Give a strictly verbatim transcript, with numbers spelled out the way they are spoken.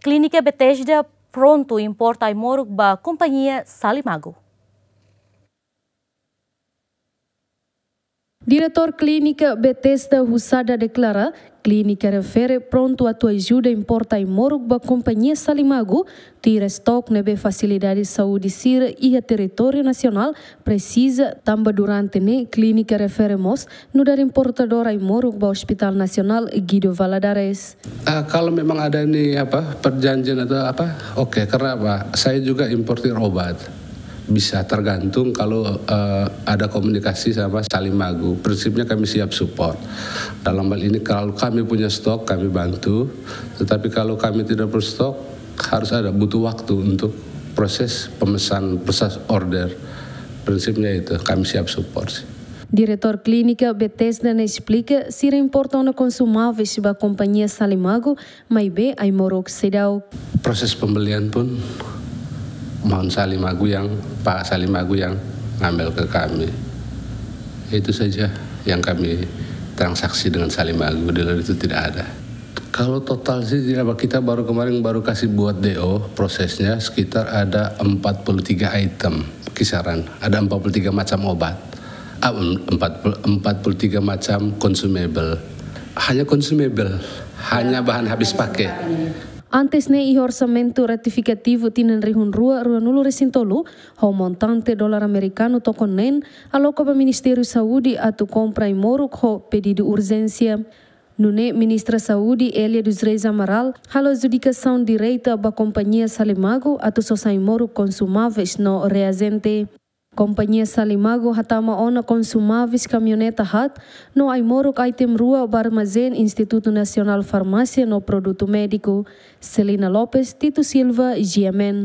Klínika Bethesda prontu importa ai-moruk ba kompañia Salimagu. Diretór Klínika Bethesda Husada deklara, klínika refere prontu atu ajuda importa ai-moruk ba kompañia Salimagu, tuir estok ne'ebé fasilidade saúde sira iha territóriu nasionál presiza, tanba durante ne'e klínika refere mós nu'udar importadór ai-moruk ba Hospital Nasionál Guido Valadares. Ah, kalau memang ada ini, apa, perjanjian atau apa, oke, karena apa? Saya juga importir obat. Bisa tergantung kalau, eh, ada komunikasi sama Salimagu. Prinsipnya kami siap support. Dalam hal ini kalau kami punya stok, kami bantu. Tetapi kalau kami tidak berstok, harus ada, butuh waktu untuk proses pemesan, proses order. Prinsipnya itu, kami siap support sih. Diretór Klínika Bethesda ne'e esplika, sira importa ona konsumáveis ba kompañia Salimagu, maibé ai-moruk seidauk. Proses pembelian pun maun Salimagu yang, Pak Salimagu yang ngambil ke kami. Itu saja yang kami transaksi dengan Salimagu, di luar itu tidak ada. Kalau total sih, ya, kita baru kemarin baru kasih buat D O, prosesnya sekitar ada empat puluh tiga item kisaran. Ada empat puluh tiga macam obat. Ah, em-, empat puluh, empat puluh tiga macam consumable. Hanya consumable, hanya bahan habis pakai. Antes ne'e iha orsamentu retifikativu tinan rihun rua, ruanulu-resin-tolu, ho montante dolar amerikanu tokon neen, aloka ba Ministériu Saúde atu kompra ai-moruk ho pedidu urjénsia. Nune'e Ministra Saúde, Elia dos Reis Amaral, halo adjudikasaun direta ba kompañia Salimagu atu sosa ai-moruk konsumáveis no reajente. Kompañia Salimagu hatama ona konsumáveis kamioneta haat no ai-moruk item rua ba armazén Institutu Nasionál Farmásia no Produtu Médiku. Celina Lopes, Tito Silva, G M N.